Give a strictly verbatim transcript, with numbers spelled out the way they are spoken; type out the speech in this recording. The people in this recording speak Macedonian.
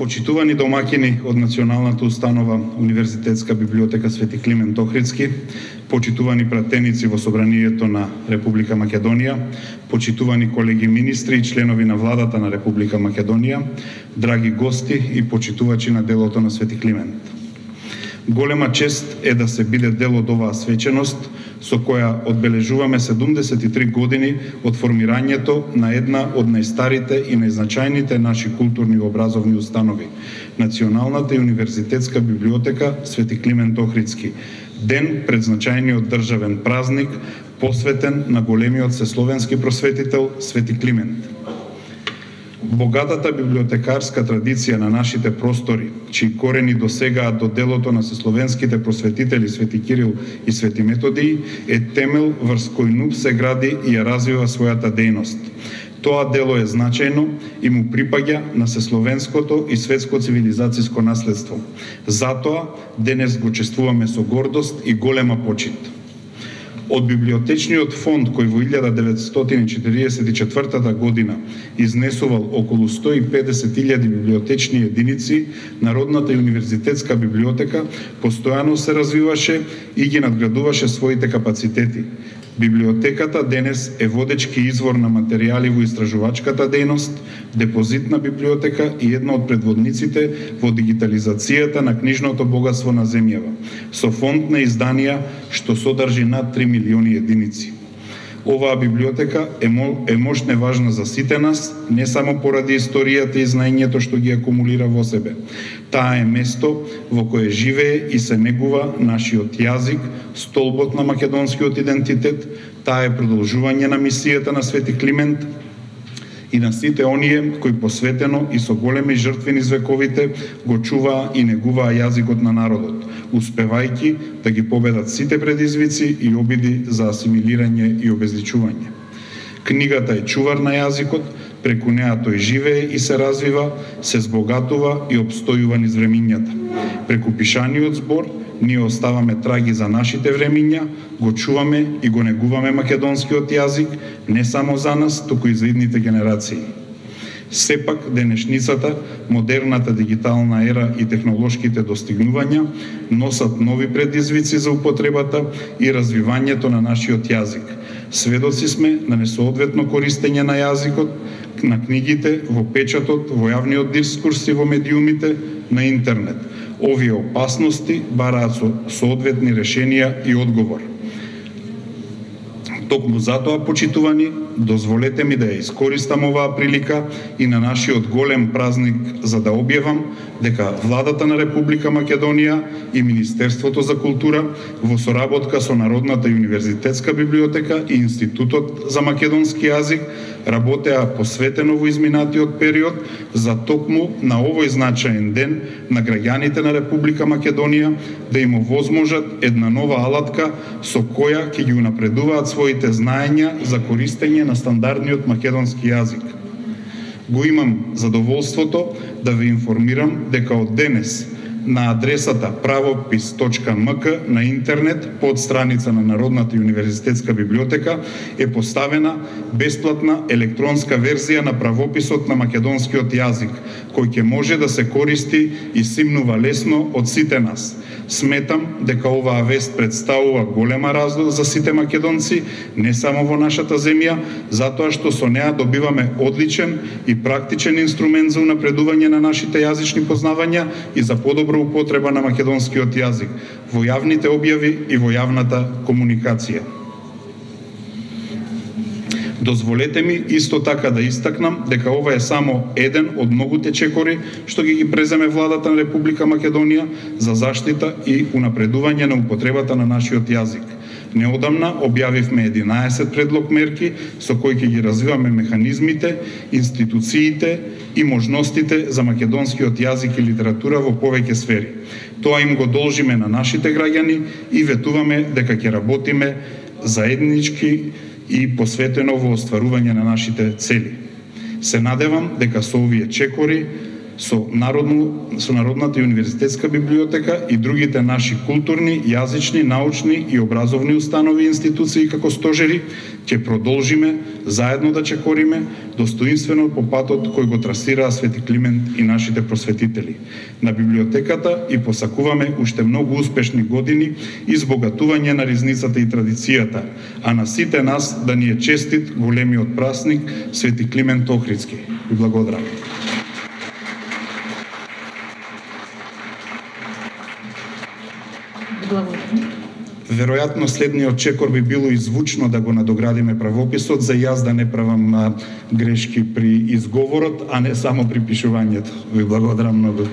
Почитувани домаќини од Националната установа Универзитетска библиотека Свети Климент Охридски, почитувани пратеници во Собранието на Република Македонија, почитувани колеги министри и членови на владата на Република Македонија, драги гости и почитувачи на делото на Свети Климент. Голема чест е да се биде дел од оваа свеченост со која одбележуваме седумдесет и три години од формирањето на една од најстарите и најзначајните наши културни и образовни установи, Националната и Универзитетска библиотека Свети Климент Охридски, ден пред значајниот државен празник посветен на големиот сесловенски просветител Свети Климент. Богатата библиотекарска традиција на нашите простори, чии корени досегаат до делото на сесловенските просветители Свети Кирил и Свети Методиј, е темел врз кој НУП се гради и ја развива својата дејност. Тоа дело е значајно и му припаѓа на сесловенското и светско цивилизацијско наследство. Затоа денес го чествуваме со гордост и голема почит. Од библиотечниот фонд кој во илјада деветстотини четиридесет и четвртата година изнесувал околу сто и педесет илјади библиотечни единици, Народната и Универзитетска библиотека постојано се развиваше и ги надградуваше своите капацитети. Библиотеката денес е водечки извор на материјали во истражувачката дејност, депозитна библиотека и една од предводниците во дигитализацијата на книжното богатство на земјава, со фонд на изданија што содржи над три милиони единици. Оваа библиотека е, мо, е мощно важна за сите нас, не само поради историјата и знаењето што ги акумулира во себе. Таа е место во кое живее и се негува нашиот јазик, столбот на македонскиот идентитет. Таа е продолжување на мисијата на Свети Климент и на сите оние кои посветено и со големи жртви низ вековите го чуваа и негуваа јазикот на народот, успевајќи да ги победат сите предизвици и обиди за асимилирање и обезличување. Книгата е чувар на јазикот, преку неа тој живее и се развива, се збогатува и обстојува низ времињата. Преку пишаниот збор ние оставаме траги за нашите времиња, го чуваме и го негуваме македонскиот јазик, не само за нас, туку и за идните генерации. Сепак, денешницата, модерната дигитална ера и технолошките достигнувања носат нови предизвици за употребата и развивањето на нашиот јазик. Сведоци сме на несоодветно користење на јазикот, на книгите, во печатот, во јавниот дискурс и во медиумите, на интернет. Овие опасности бараат со соодветни решенија и одговор. Токму затоа, почитувани, дозволете ми да ја искористам оваа прилика и на нашиот голем празник за да објавам дека Владата на Република Македонија и Министерството за култура во соработка со Народната и Универзитетска библиотека и Институтот за македонски јазик работеа посветено во изминатиот период за токму на овој значаен ден на граѓаните на Република Македонија да им овозможат една нова алатка со која ќе ги унапредуваат своите знаења за користење на стандардниот македонски јазик. Го имам задоволството да ве информирам дека од денес на адресата правопис точка ем ка на интернет под страница на Народната и Универзитетска библиотека е поставена бесплатна електронска верзија на правописот на македонскиот јазик, кој ќе може да се користи и симнува лесно од сите нас. Сметам дека оваа вест представува голема раздор за сите македонци, не само во нашата земја, затоа што со неа добиваме одличен и практичен инструмент за унапредување на нашите јазични познавања и за подобра употреба на македонскиот јазик во јавните објави и во јавната комуникација. Дозволете ми исто така да истакнам дека ова е само еден од многуте чекори што ги ги преземе Владата на Република Македонија за заштита и унапредување на употребата на нашиот јазик. Неодамна објавивме единаесет предлог мерки со кои ќе ги развиваме механизмите, институциите и можностите за македонскиот јазик и литература во повеќе сфери. Тоа им го должиме на нашите граѓани и ветуваме дека ќе работиме заеднички и посветено во остварување на нашите цели. Се надевам дека со овие чекори со народно со Народната и универзитетска библиотека и другите наши културни, јазични, научни и образовни установи и институции како стожери, ќе продолжиме заедно да чекориме достоинствено по патот кој го трасираа Свети Климент и нашите просветители. На библиотеката и посакуваме уште многу успешни години и збогатување на ризницата и традицијата, а на сите нас да ни е честит големиот празник Свети Климент Охридски. Ви благодарам. Веројатно следниот чекор би било и звучно да го надоградиме правописот, за јас да не правам грешки при изговорот, а не само при пишувањето. Ви благодарам многу.